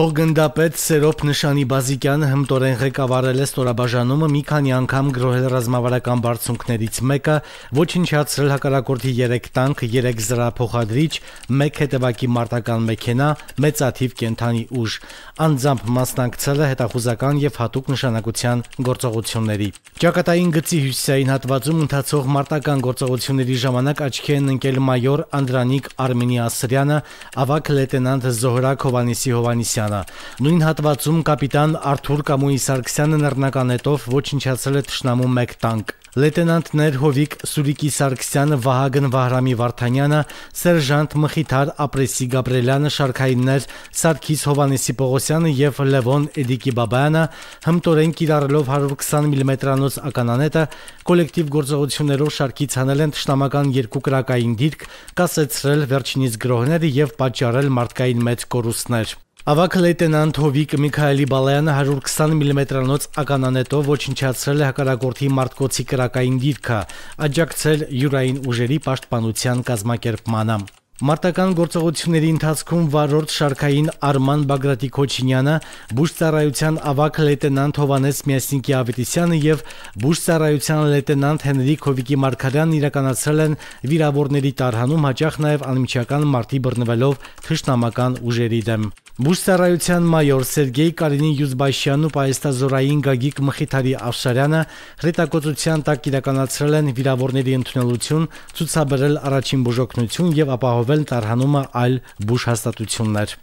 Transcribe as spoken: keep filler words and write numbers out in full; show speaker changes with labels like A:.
A: Փոխգնդապետ Սերոբ Նշանի-Բազիկյանը հմտորեն ղեկավարել է ստորաբաժանումը մի քանի անգամ գրոհել ռազմավարական բարձունքներից մեկը, ոչնչացրել հակառակորդի երեք տանկ, երեք զրահափոխադրիչ, մեկ հետևակի մարտական մեքենա, մեծաթիվ կենդանի ուժ, անձամբ մասնակցել է հետախուզական եւ հատուկ նշանակության գործողությունների։ Ճակատային գծի հյուսիսային հատվածում ընթացող մարտական գործողությունների ժամանակ աչքի են ընկել մայոր Անդրանիկ Արմենի-Ասրյանը, ավագ լեյտենանտ Զոհրաբ Հովհաննիսի Հովհաննիսյանը։ Նույն հատվածում կապիտան Արթուր Կամոյի Սարգսյանը նռնականետով ոչնչացրել է թշնամու մեկ տանկ։ Լեյտենանտներ Հովիկ Սուրիկի Սարգսյանը, Վահագն Վահրամի Վարդանյանը, սերժանտ Մխիթար Ապրեսի Գաբրելյանը, շարքայիններ Սարգիս Հովհաննիսի Պողոսյանը եւ Լևոն Էդիկի Բաբայանը հմտորեն կիրառելով հարյուր քսան միլիմետրանոց ականանետը կոլեկտիվ գործողություններով շարքից հանել են թշնամական երկու կրակային դիրք, կասեցրել վերջինիս գրոհները եւ պատճառել մարդկային մեծ կորուստներ։ Ավագ լեյտենանտ Հովիկ Միքայելի Բալայանը հարյուր քսան միլիմետրանոց ականանետով ոչնչացրել է հակառակորդի մարտկոցի կրակային դիրքը, աջակցել յուրային ուժերի պաշտպանության կազմակերպմանը։ Մարտական գործողությունների ընթացքում վարորդ շարքային Արման Բագրատի Քոչինյանը, բուժծառայության ավագ լեյտենանտ Հովհաննես Միասնիկի Ավետիսյանը եւ բուժծառայության լեյտենանտ Հենրիկ Հովիկի Մարգարյանն իրականացրել են վիրավորների տարհանում, հաճախ նաեւ անմիջական մարտի բռնվելով թշնամական ուժերի դեմ։ Բուժծառայության մայոր Սերգեյ Կարինի Յուզբաշյանն ու պահեստազորային Գագիկ Մխիթարի Ավշարյանը հրետակոծության տակ իրականացրել են վիրավորների ընդունելություն, ցուցաբերել առաջին բուժօգնություն եւ ապահովել տարհանումը այլ բուժհաստատություններ։